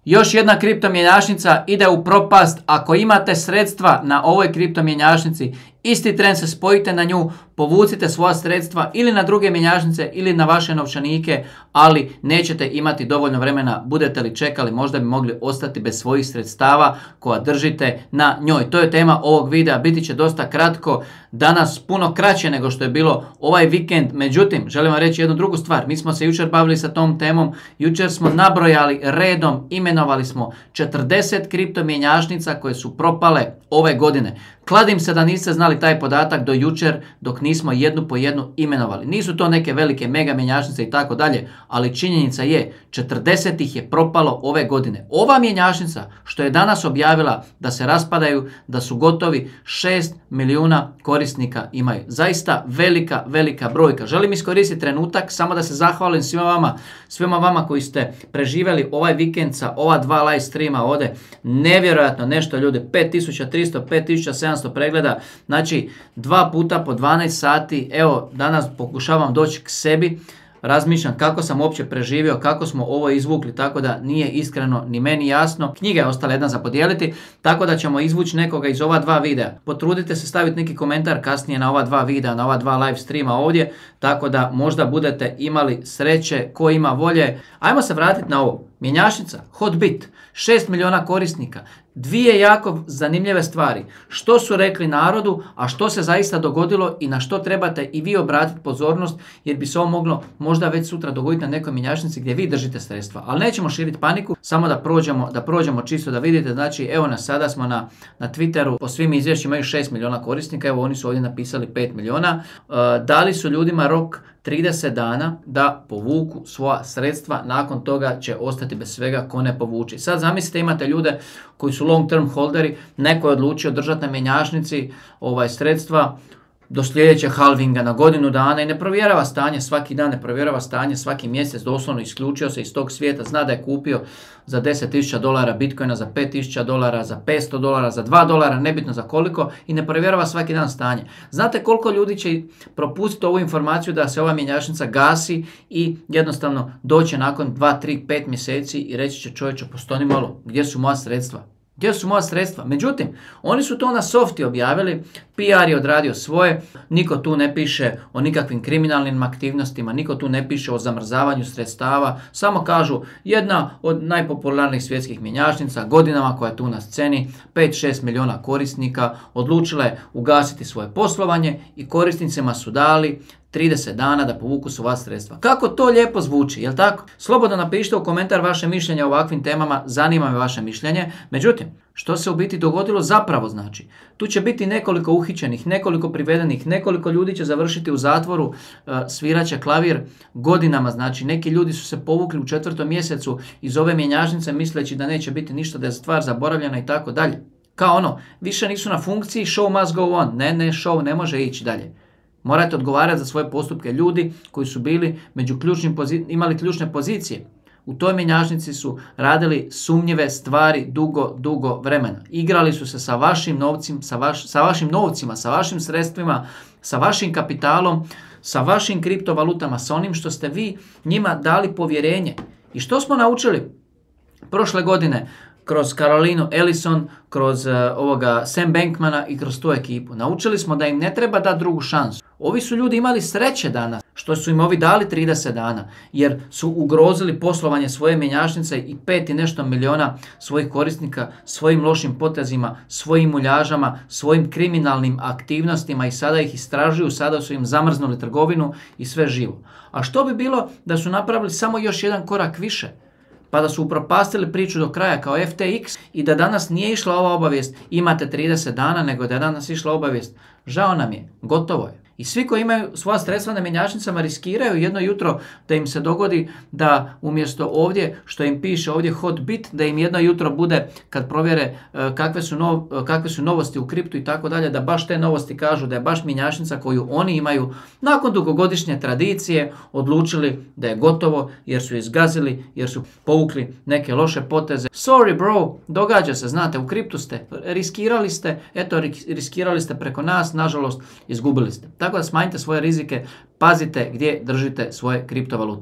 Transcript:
Još jedna kriptomjenjačnica ide u propast. Ako imate sredstva na ovoj kriptomjenjačnici, isti tren se spojite na nju, povucite svoja sredstva ili na druge mjenjačnice ili na vaše novčanike, ali nećete imati dovoljno vremena. Budete li čekali, možda bi mogli ostati bez svojih sredstava koja držite na njoj. To je tema ovog videa, biti će dosta kratko, danas puno kraće nego što je bilo ovaj vikend. Međutim, želim vam reći jednu drugu stvar. Mi smo se jučer bavili sa tom temom, jučer smo nabrojali redom, imenovali smo 40 kriptomjenjačnica koje su propale ove godine. Kladim se da niste znali taj podatak do jučer dok nismo jednu po jednu imenovali. Nisu to neke velike mega mjenjačnice i tako dalje, ali činjenica je 40 ih je propalo ove godine. Ova mjenjačnica što je danas objavila da se raspadaju, da su gotovi, 6 milijuna korisnika imaju. Zaista velika brojka. Želim iskoristiti trenutak samo da se zahvalim svima vama koji ste preživjeli ovaj vikend sa ova dva live streama ovdje. Nevjerojatno nešto ljudi, 5300, 5700 pregleda, znači 2 puta po 12 sati. Evo, danas pokušavam doći k sebi, razmišljam kako sam uopće preživio, kako smo ovo izvukli, tako da nije iskreno ni meni jasno. Knjiga je ostala jedna za podijeliti, tako da ćemo izvući nekoga iz ova dva videa. Potrudite se staviti neki komentar kasnije na ova dva videa, na ova dva live streama ovdje, tako da možda budete imali sreće, ko ima volje. Ajmo se vratiti na ovo. Mjenjačnica, Hotbit, 6 milijuna korisnika. Dvije jako zanimljive stvari. Što su rekli narodu, a što se zaista dogodilo i na što trebate i vi obratiti pozornost, jer bi se ovo moglo možda već sutra dogoditi na nekoj mjenjačnici gdje vi držite sredstva. Ali nećemo širiti paniku, samo da prođemo čisto da vidite. Znači, evo nas, sada smo na Twitteru, po svim izvješćima imaju 6 milijuna korisnika, evo oni su ovdje napisali 5 milijuna. Dali su ljudima rok 30 dana da povuku svoja sredstva, nakon toga će ostati bez svega ko ne povuči. Sad zamislite, imate ljude koji su long term holderi, neko je odlučio držati na mjenjačnici sredstva do sljedećeg halvinga na godinu dana i ne provjerava stanje svaki dan, ne provjerava stanje svaki mjesec, doslovno isključio se iz tog svijeta, zna da je kupio za $10,000 bitcoina, za $5,000, za $500, za $2, nebitno za koliko, i ne provjerava svaki dan stanje. Znate koliko ljudi će propustiti ovu informaciju da se ova mjenjačnica gasi i jednostavno doće nakon 2, 3, 5 mjeseci i reći će: čovječe, postoni malo, gdje su moja sredstva? Gdje su moja sredstva? Međutim, oni su to na softi objavili, PR je odradio svoje, niko tu ne piše o nikakvim kriminalnim aktivnostima, niko tu ne piše o zamrzavanju sredstava, samo kažu jedna od najpopularnijih svjetskih mjenjačnica, godinama koja je tu na sceni, 5-6 milijuna korisnika, odlučila je ugasiti svoje poslovanje i korisnicima su dali 30 dana da povuku svoja sredstva. Kako to lijepo zvuči, jel tako? Slobodno napišite u komentar vaše mišljenje o ovakvim temama, zanima me vaše mišljenje. Međutim, što se u biti dogodilo zapravo znači? Tu će biti nekoliko uhićenih, nekoliko privedenih, nekoliko ljudi će završiti u zatvoru, sviraće klavir godinama, znači neki ljudi su se povukli u 4. mjesecu iz ove mjenjačnice misleći da neće biti ništa, da je stvar zaboravljena i tako dalje. Kao ono, više nisu na funkciji, show must go on. Ne, show ne može ići dalje. Morate odgovarati za svoje postupke. Ljudi koji su bili imali ključne pozicije u toj mjenjačnici su radili sumnjive stvari dugo vremena. Igrali su se sa vašim novcima, sa vašim sredstvima, sa vašim kapitalom, sa vašim kriptovalutama, sa onim što ste vi njima dali povjerenje. I što smo naučili prošle godine? Kroz Carolinu Ellison, kroz Sam Bankmana i kroz tu ekipu. Naučili smo da im ne treba dati drugu šansu. Ovi su ljudi imali sreće danas što su im ovi dali 30 dana, jer su ugrozili poslovanje svoje mjenjačnice i 5 i nešto milijuna svojih korisnika svojim lošim potezima, svojim muljažama, svojim kriminalnim aktivnostima i sada ih istražuju, sada su im zamrznuli trgovinu i sve živo. A što bi bilo da su napravili samo još jedan korak više? Pa da su upropastili priču do kraja kao FTX i da danas nije išla ova obavijest imate 30 dana, nego da je danas išla obavijest žao nam je, gotovo je. I svi koji imaju svoja sredstva na mjenjačnicama riskiraju jedno jutro da im se dogodi da umjesto ovdje što im piše ovdje Hotbit, da im jedno jutro bude kad provjere kakve su novosti u kriptu i tako dalje, da baš te novosti kažu da je baš mjenjačnica koju oni imaju nakon dugogodišnje tradicije odlučili da je gotovo jer su izgazili, jer su povukli neke loše poteze. Sorry bro, događa se, znate, u kriptu ste, riskirali ste preko nas, nažalost izgubili ste. Tako da smanjite svoje rizike, pazite gdje držite svoje kriptovalute.